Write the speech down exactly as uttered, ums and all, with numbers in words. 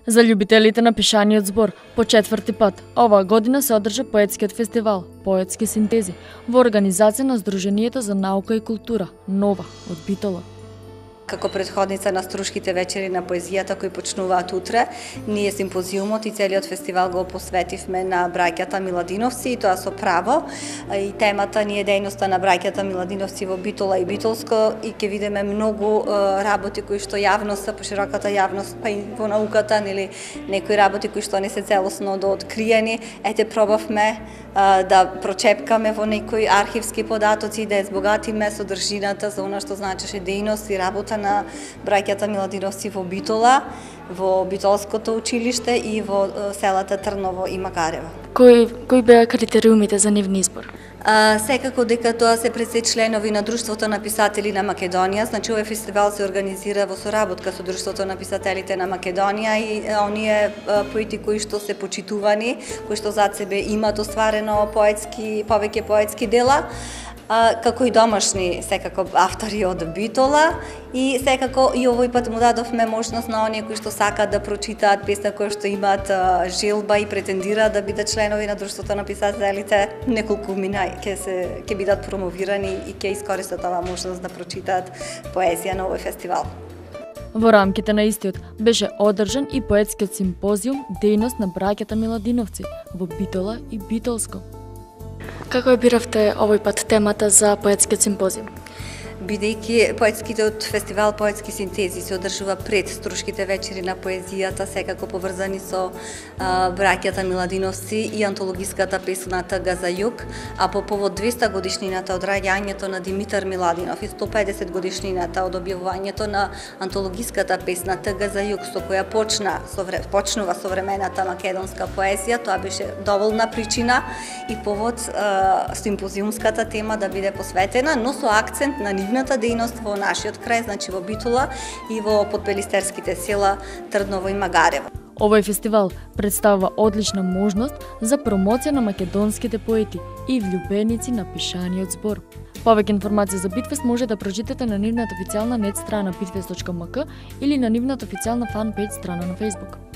За љубителите на пишаниот збор, по четврти пат, оваа година се одржа поетскиот фестивал Поетски синтези во организација на Сдруженијето за наука и култура, Нова, од Битола. Како претходница на Струшките вечери на поезијата кои почнуваат утре, ние симпозиумот и целиот фестивал го посветивме на браќата Миладиновци, и тоа со право. И темата ни е дејноста на браќата Миладиновци во Битола и Битолско, и ќе видиме многу работи кои што јавноста, пошироката јавност, па и во науката, нели некои работи кои што не се целосно дооткриени. Ете, пробавме да прочепкаме во некои архивски податоци, да ја збогатиме содржината за она што значеше дејност и работа на браќата Миладиновци во Битола, во Битолското училиште и во селата Трново и Макарево. Кои кои беа критериумите за нивни избор? А, секако дека тоа се пред се членови на Друштвото на писатели на Македонија, значи овој фестивал се организира во соработка со Друштвото на писателите на Македонија и оние поети кои што се почитувани, кои што зад себе имаат остварено поетски, повеќе поетски дела, А, како и домашни секако автори од Битола, и секако и овој пат му дадовме можност на оние кои што сакаат да прочитаат песна, кои што имаат а, желба и претендираат да бидат членови на Друштвото на писателите, неколку мина ќе се ќе бидат промовирани и ќе искористат оваа можност да прочитаат поезија на овој фестивал. Во рамките на истиот беше одржан и поетскиот симпозиум Дејност на браќата Миладиновци во Битола и Битолско. Како ја биравте овој пат темата за поетскиот симпозиум? Бидејќи поетскиот фестивал Поетски синтези се одржува пред Струшките вечери на поезијата, секако поврзани со а, браќата Миладиновци и антологиската песна Тага за југ, а по повод двеста годишнината од раѓањето на Димитар Миладинов и сто педесет годишнината од објавувањето на антологиската песна Тага за југ, со која почна совре, почнува современата македонска поезија, тоа беше доволна причина и повод а, симпозиумската тема да биде посветена, но со акцент на нивната дејност во нашиот крај, значи во Битола и во подпелистерските села Трдново и Магарево. Овој фестивал представува одлична можност за промоција на македонските поети и влюбеници на пишаниот збор. Повеќе информации за Битфест може да прочитате на нивната официјална нет страна битфест точка ем ка или на нивната официјална фан пејдж страна на Facebook.